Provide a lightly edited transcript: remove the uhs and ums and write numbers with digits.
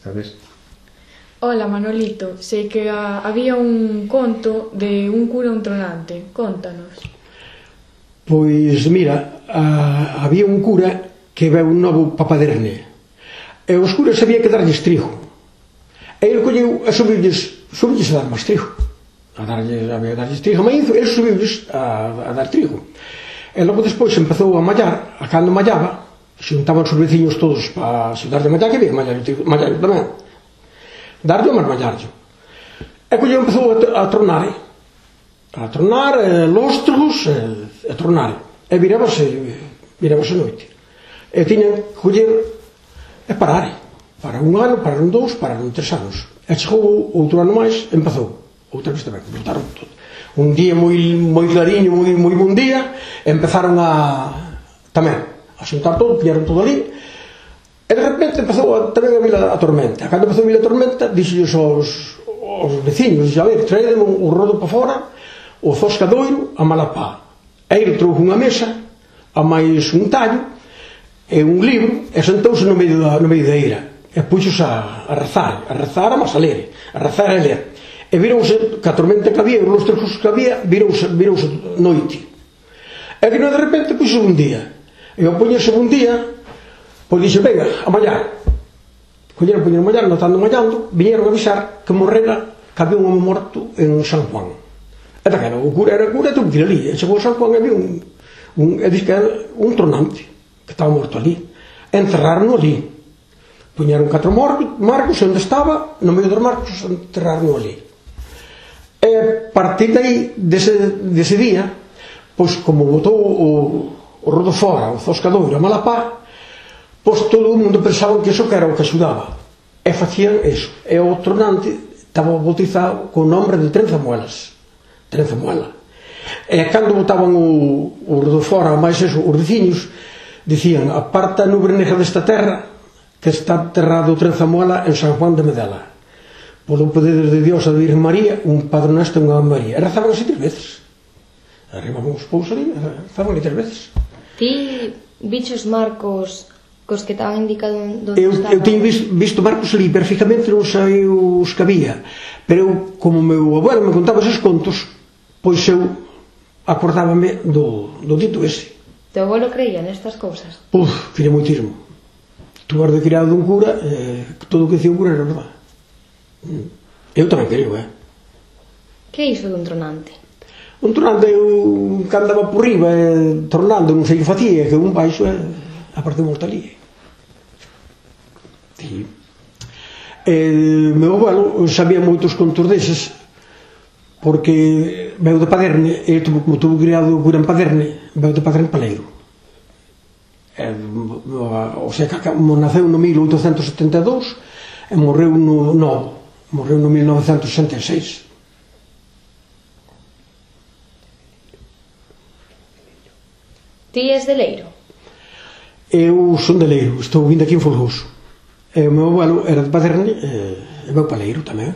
sabes? Hola, Manolito, sei que había un conto de un cura un tronante, contanos. Pois, mira, había un cura que veu un novo papaderne, e os curas había que darlles trigo, e ele colleu e subiulles a dar máis trigo, había que darlles trigo a maízo, ele subiulles a dar trigo, e logo despois empezou a mallar, a cando mallaba, xuntaban os veciños todos para axudarle a mallar, que había que mallar tamén, darlle ou máis mallarlle, e colleu empezou a tronar, lóstregos e tronar, e virábase noite, e tiñan que coller e parar, para un ano, pararon 2, pararon 3 anos, e chegou outro ano máis, empezou outra vez tamén, botaron todo un día moi clariño, moi bon día, empezaron tamén a xuntar todo, pillaron todo ali, e de repente empezou tamén a vir a tormenta. Cando empezou a vir a tormenta, dixolles aos veciños, a ver, traedeme o rodo para fora, o zoscadoiro, a malapá. E ele trouxe unha mesa, a máis un tallo, e un libro, e sentouse no medio da ira, e puxos a rezar, a mas a ler, a rezar e a ler. E virouse, que a tormenta que había, os lóstregos que había, virouse noite. E que de repente puxo un día, e ao poñerse un día, pois dixe, venga, a mallar. Poñeron a mallar, notando mallando, viñeron a avisar que morrera, que había un home morto en San Juan. E daquela, o cura era cura, tuvo que ir ali, e chegou a San Juan e había e dixe que era un tronante, que estaba morto ali. Enterraron ali. Poñeron 4 marcos, onde estaba, no medio dos marcos, enterraron ali. E a partir dai, dese día, pois como botou o rodo fora, o zoscadoiro, a malapá, pois todo o mundo pensaba que iso que era o que axudaba, e facían eso, e o tronante estaba bautizado co nombre de Trenzamuelas, e cando botaban o rodo fora, máis eso, os veciños dicían, aparta a nube negra desta terra que está enterrado Trenzamuela en San Juan de Medela, polo poder de Dios a Virgen María, un Padre Nuestro e unha Ave María, e rezaban así 3 veces, arribaban os pousos ali, rezaban ali 3 veces. Ti bichos marcos cos que estaban indicados onde estaban? Eu teño visto marcos ali, perfectamente non sei os que había, pero eu, como meu abuelo me contaba esos contos, pois eu acordábame do dito ese. Teu abuelo creía nestas cousas? Quería moitísimo. Tuvar de criado dun cura, todo o que dicía un cura era verdade. Eu tamén creo, Que é iso dun tronante? Un tronante, eu que andaba por riba tronando, non sei que facía, que un baixo a partir morta ali. Meu abuelo sabía moitos contos deses, porque veu de Paderne, e como tuvo criado o cura en Paderne, veu de Paderne Paleiro. O sea, naceu no 1872 e morreu no 1966. Ti és de Leiro? Eu son de Leiro, estou vindo aquí en Folgoso. E o meu abuelo era de Paderne e veu para Leiro tamén.